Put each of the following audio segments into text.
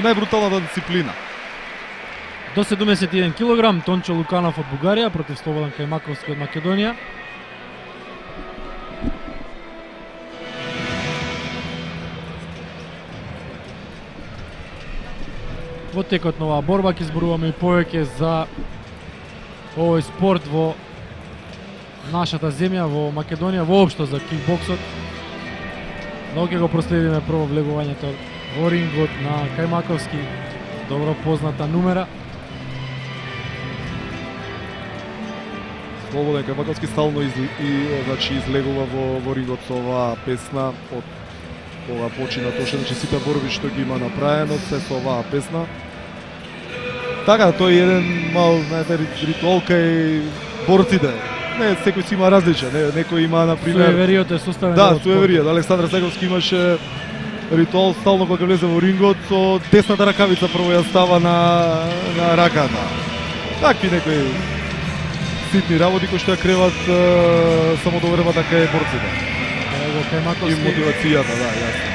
најбруталната дисциплина. До 71 кг Тончо Луканов од Бугарија против Слободан Кајмаковски од Македонија. Во текот на оваа борба ќе зборуваме и повеќе за овој спорт во нашата земја, во Македонија, воопшто за кикбоксот. Но ќе го проследиме прво влегувањето во рингот на Кајмаковски, добро позната numera. Слободен Кајмаковски стално излегува во рингот со оваа песна. Од ова почина точно сите борби што ги има направено, се со оваа песна. Така, тој е еден мал, знаете, ритуал кај борците. Не, секој си има различен, некој има, например... Суевериот е составен. Да, суевериот. Александар Сеговски имаше ритуал стално кога влезе во рингот, со десната ракавица прво ја става на раката. Такви некои ситни работи кои што ја креват самодовербата кај борците. И мотивацијата, да, јасно.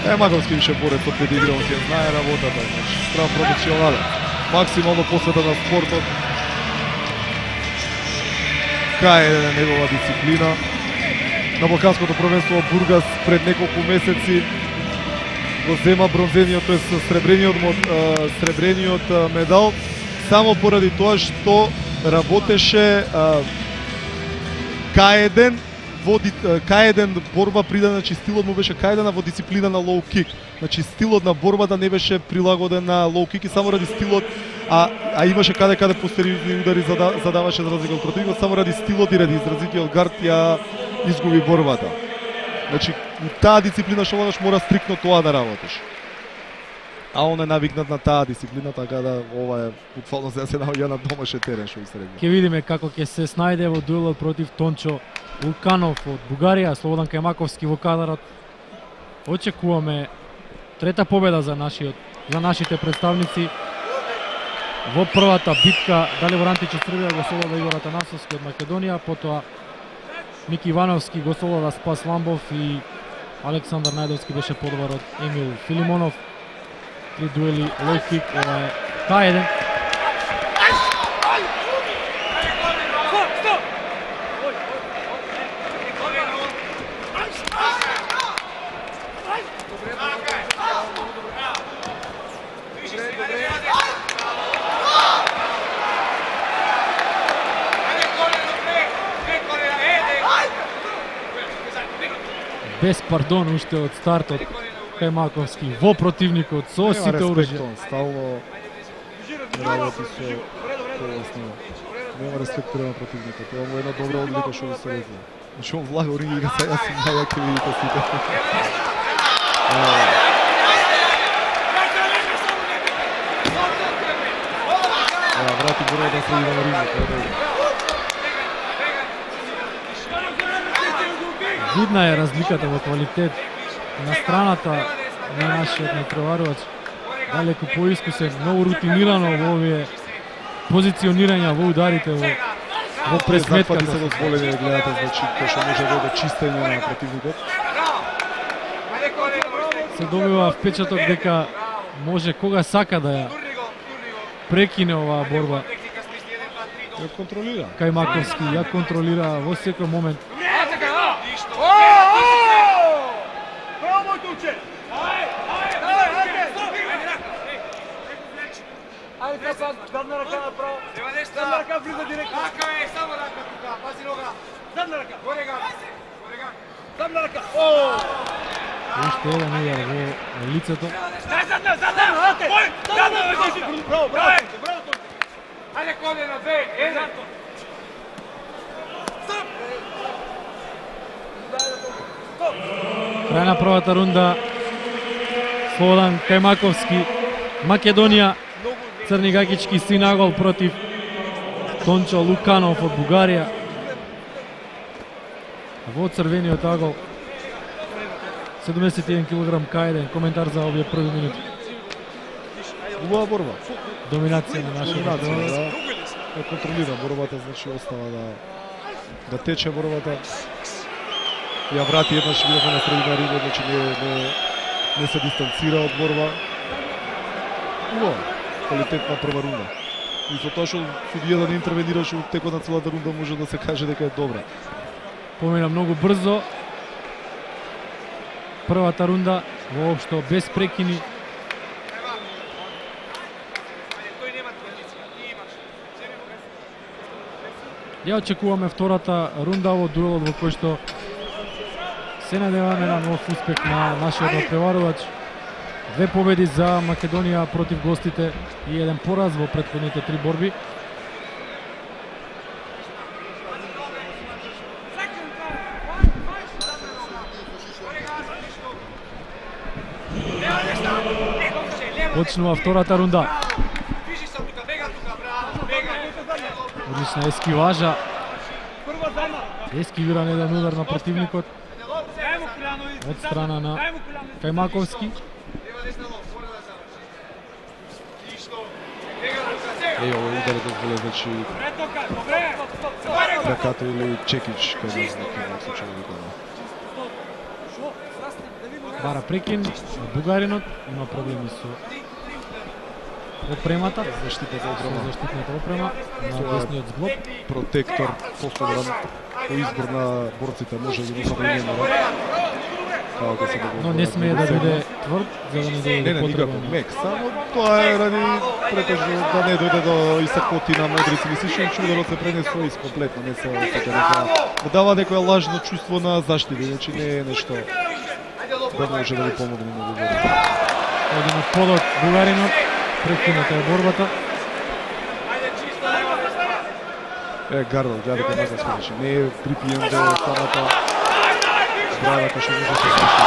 Кајмаковски више борец од педигрон, ќе знае работата, значи стран професионален, максимално посветен на спортот. Кај е негова дисциплина. На Балканското првенство во Бургас пред неколку месеци го зема бронзениот, тоест сребрениот медал, само поради тоа што работеше К1 К1 борба придадена, значи стилот му беше К1 во дисциплина на лоу кик. Значи стилот на борбата не беше прилагоден на лоу кик и само ради стилот, а имаше каде постериорни удари задаваше за разлика од противникот, само ради стилот и ради изразитиот гард ја изгуби борбата. Значи таа дисциплина што водаш мора стриктно тоа да работиш. А он е навикнат на таа дисциплина, така да ова е буквално се наоѓа на домашен терен што се рекла. Ќе видиме како ќе се снајде во дуелот против Тончо Луканов од Бугарија, Слободан Кајмаковски во кадарот. Очекуваме трета победа за нашите представници во првата битка. Далибор Античев Србија го солода Игор Атанасовски од Македонија, потоа Мики Ивановски го солода Спас Ламбов и Александар Најдовски беше подобар од Емил Филимонов. Три дуели лоу кик, ова е К1. Без пардон уште од стартот Кајмаковски во противникот со сите оружја. Стално работи со полосно. Нема респект према противникот. Ова му е една добра одлика што се рекла. Значи он влага у ринг и сега си најаки видите сите. Врати борбата среди на рингот. Видна е разликата во квалитет на страната на нашиот натпреварувач. Далеку поискусен, многу рутинирано во овие позиционирања во ударите во пресметката. Се дозволени да гледате, значи кој што може да чистење на противникот. Се добива впечаток дека може кога сака да ја прекине оваа борба. Ја контролира. Кајмаковски ја контролира во секој момент. Задна рака направо. Задна рака влиза директно. Рака е, само рака тука. Пази нога. Задна рака. Горега. Горега. Задна рака. Уште еден удар во лицето. Задна, задна. Ој, задна. Браво, браво. Браво. Ајде колена, две, еден. Стоп. Крај на првата рунда. Слободан Кајмаковски, Македонија. Црни Гагички синагол против Тончо Луканов од Бугарија. Во црвениот агол 71 кг К1. Коментар за овие први минути. Убава борба. Доминација на нашиот Доминација, да. Контролира борбата, значи остава да тече борбата. ја врати еднаш бивме на средина риба, значи не се дистанцира од борба. Квалитетна прва рунда. И со тоа што судијата не интервенираше во текот на целата рунда, може да се каже дека е добра. Помина многу брзо. Првата рунда воопшто без прекини. Ја очекуваме втората рунда во дуелот во кој што се надеваме на нов успех на нашиот надпреварувач. 2 победи за Македонија против гостите и 1 пораз во претходните 3 борби. Почнува втората рунда. Одлична ескиважа. Ескивиран еден удар на противникот од страна на Кајмаковски. Овој удар е дозволен, значи раката или чекич кај нас на случај викаме. Бара прекин, бугаринот има проблеми со опремата, Заштитната опрема. заштитната опрема на десниот зглоб. Протектор поставен по избор на борците, може да го направи Но не смее да биде тврд, за да не дојде Не, до никако потреба. мек, само тоа е ради претежно да не дојде до исакотина, модрици, мислиш, че ударот се пренесува искомплетно, не се да дава некоја лажно чувство на заштита, значи не е нешто да може да ви помогне на ударот. Один од подот бугаринот, прекината е борбата. Гардал, гледа дека не се смеши, не е припиен до самата брава кај што може да се случи.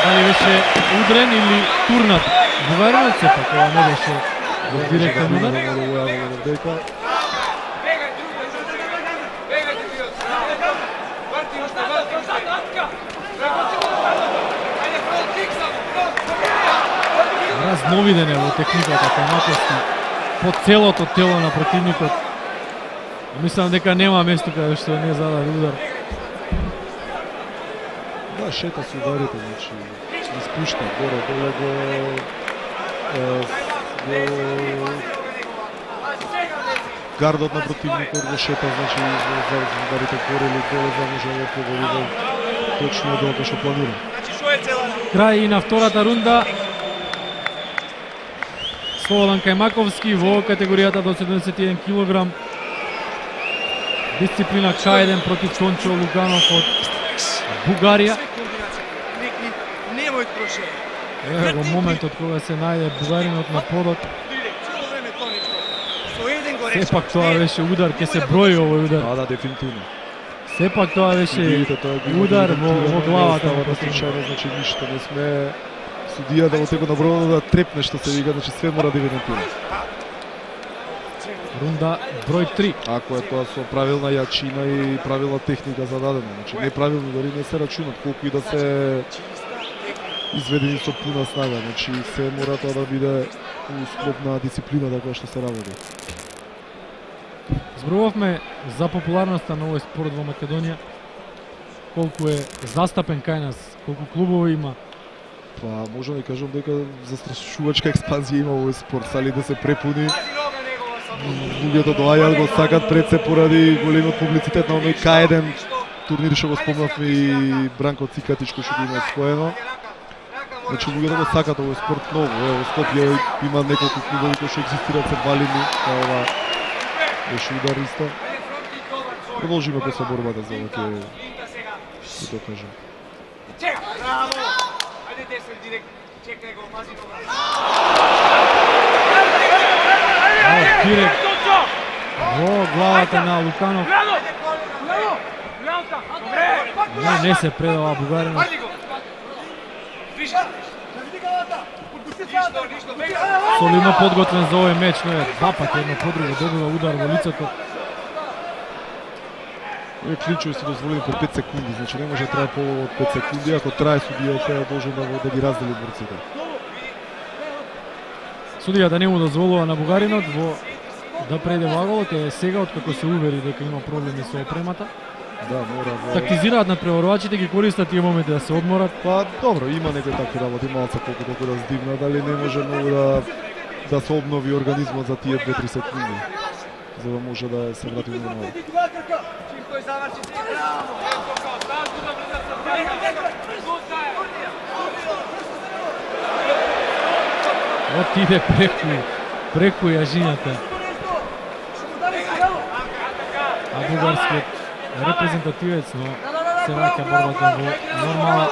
Дали беше удрен или турнат бугаринот, сепак ова не беше директен удар. Разновиден е во техниката Кајмаковски по целото тело на противникот. Мислам дека нема место каде што не зададе удар. Да, шета се ударите, значи испушта горе, доле го гардот на противникот го шета, значи за ударите горе или доле, за може да погоди во точно долго што планира. Крај и на втората рунда. Слободан Кајмаковски во категоријата до 71 кг. Дисциплина К1 против Тончо Луганов од Бугарија. Еве го моментот кога се најде бугаринот на подот. Сепак тоа беше удар, ќе се брои овој удар. Да, дефинитивно. Сепак тоа беше удар во главата на случајно, значи ништо не сме судијата во текот на борбата да трепне, што се вика, значи све мора да евидентира. Рунда број 3. Ако е тоа со правилна јачина и правилна техника зададено, значи неправилно дори не се рачунат, колку и да се изведени со пуна снага, значи се мора тоа да биде у склоп на дисциплината која што се работи. Зборувавме за популарноста на овој спорт во Македонија, колку е застапен кај нас, колку клубови има. Па можам да кажам дека застрашувачка експанзија има овој спорт, сали да се препуни. Луѓето доаѓаат, го сакат пред се поради големиот публицитет на оној К1 турнир што го спомнавме и Бранко Цикатич кој што го има освоено. Значи луѓето го сакат овој спорт многу. Во Скопје има неколку клубови кои што екзистираат се валими, ова беше удар исто. Продолжиме после борбата за ова ќе докажем. Браво! Ајде десен директ, чекај го, пази го. Директ во главата на Луканов. Не се предава бугаринот. Солидно подготвен за овој меч, но е два пати едно по друго добива удар во лицето. Овие клинчови се дозволени по 5 секунди, значи не може да трае по 5 секунди, ако трае судијата е должен да ги раздели борците. Судијата не му дозволува на бугаринот да преде ваголот, е сега откако се увери дека има проблеми со опремата. Да, мора во... Тактизираат надпреварувачите, ги користат тие моменти да се одморат. Па добро, има некои такви работи, малце колку толку да здивна, дали не може многу да се обнови организмот за тие 2-3 секунди, за да може да се врати нормално. Отиде преку јажињата. А бугарскиот репрезентативец, но се враќа борбата во нормала.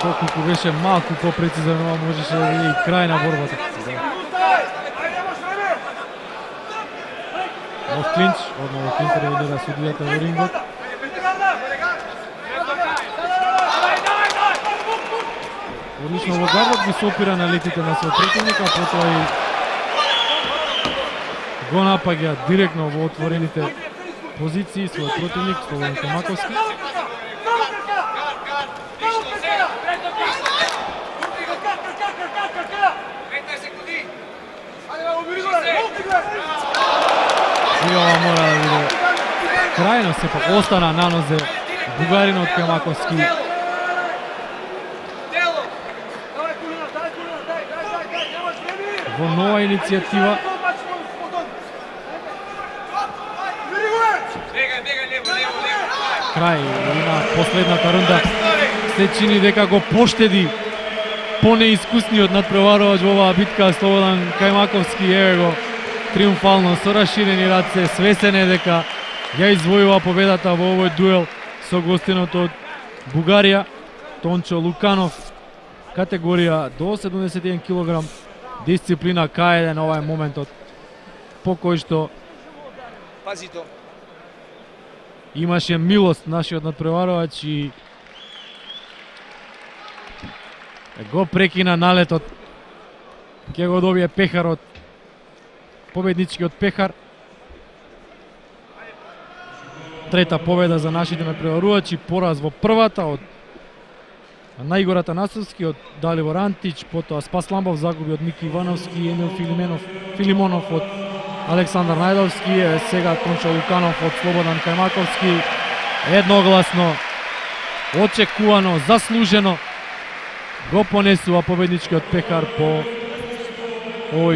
Колку беше малку попрецизен, ова можеше да биде и крај на борбата. Нов клинч, одново интервенира судијата во рингот. Одлично во гардот ги сопира на летите на свој противника, потоа и го напаѓа директно во отворените позиции свој противник Слободан Кајмаковски. И ова мора да биде крајно, сепак остана на нозе бугаринот Кајмаковски. Во нова иницијатива. Крај на последната рунда се чини дека го поштеди понеискусниот надпреварувач во оваа битка Слободан Кајмаковски. Еве го триумфално со расширени раце, свесен е дека ја извојува победата во овој дуел со гостинот од Бугарија Тончо Луканов, категорија до 71 кг, дисциплина К1. Ова е моментот по кој што имаше милост нашиот надпреварувач и го прекина налетот. Ќе го добие пехарот, победничкиот пехар. Трета победа за нашите надпреварувачи, пораз во првата од Наигор Атанасовски, од Далибор Антич, потоа Спас Ламбов загуби од Мики Ивановски и Емил Филимонов од Александар Најдовски, сега Тончо Луканов од Слободан Кајмаковски. Едногласно, очекувано, заслужено го понесува победничкиот пехар по овој